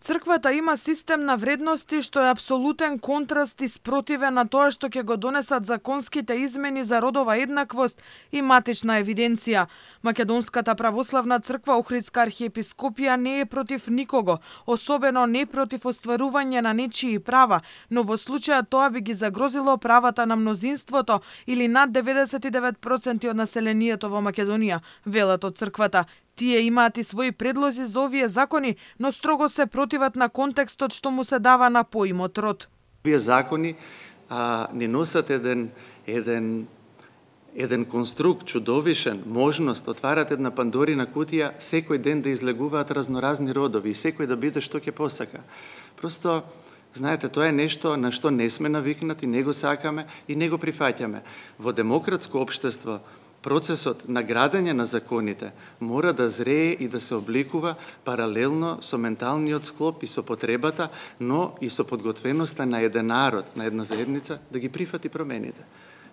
Црквата има систем на вредности што е апсолутен контраст и спротивен на тоа што ќе го донесат законските измени за родова еднаквост и матична евиденција. Македонската православна црква Охридска архиепископија не е против никого, особено не против остварување на нечии права, но во случајот тоа би ги загрозило правата на мнозинството или над 99% од населението во Македонија, велат од црквата. Тие имаат и своји предлози за овие закони, но строго се противат на контекстот што му се дава на поимот род. Овие закони не носат еден конструкт чудовишен, можност, отварат една пандорина кутија, секој ден да излегуваат разноразни родови и секој да биде што ќе посака. Просто, знаете, тоа е нешто на што не сме навикнати, не го сакаме и не го прифаќаме. Во демократско општество, процесот на градење на законите мора да зрее и да се обликува паралелно со менталниот склоп и со потребата, но и со подготвеноста на еден народ, на една заедница, да ги прифати промените.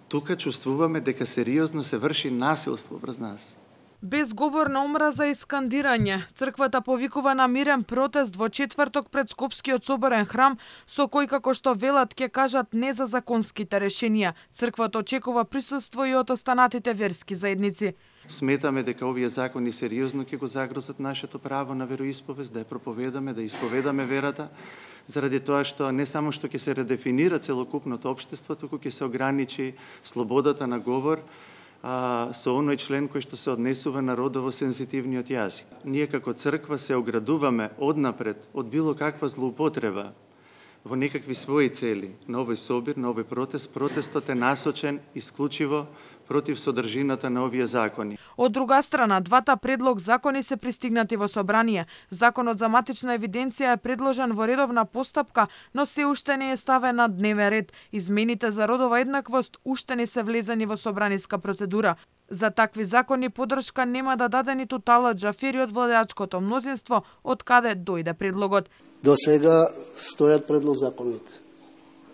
Тука чувствуваме дека сериозно се врши насилство врз нас. Без говор на омраза и скандирање, црквата повикува на мирен протест во четврток пред Скопскиот соборен храм, со кој, како што велат, ќе кажат не за законските решенија. Црквата очекува присуство и од останатите верски заедници. Сметаме дека овие закони сериозно ќе го загрозат нашето право на вероисповест, да ја проповедаме, да исповедаме верата, заради тоа што не само што ќе се редефинира целокупното општество, туку ќе се ограничи слободата на говор, со оној член кој што се однесува на родово сензитивниот јазик. Ние како црква се оградуваме однапред од било каква злоупотреба во некакви своји цели на овој собир, на овој протест. Протестот е насочен исклучиво против содржината на овие закони. Од друга страна, двата предлог закони се пристигнати во собрание. Законот за матична евиденција е предложен во редовна постапка, но се уште не е ставен на дневен ред. Измените за родова еднаквост уште не се влезени во собраниска процедура. За такви закони поддршка нема да даде ниту Талат Џафери од владеачкото мнозинство, од каде дојде предлогот. До сега стојат предлог законите.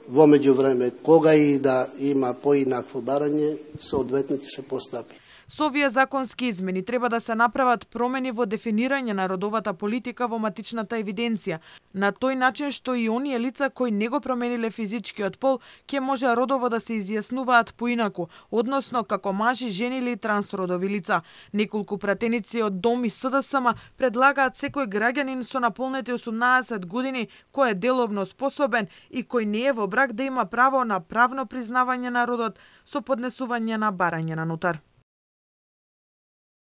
Во меѓувреме, кога и да има поинакво барање, соодветните се постапи. Со овие законски измени треба да се направат промени во дефинирање на родовата политика во матичната евиденција, на тој начин што и оние лица кои не го промениле физичкиот пол ќе може родово да се изјаснуваат поинаку, односно како мажи, жени или трансродови лица. Неколку пратеници од ДОМ и СДСМ предлагаат секој граѓанин со наполнети 18 години кој е деловно способен и кој не е во брак да има право на правно признавање на родот со поднесување на барање на нотар.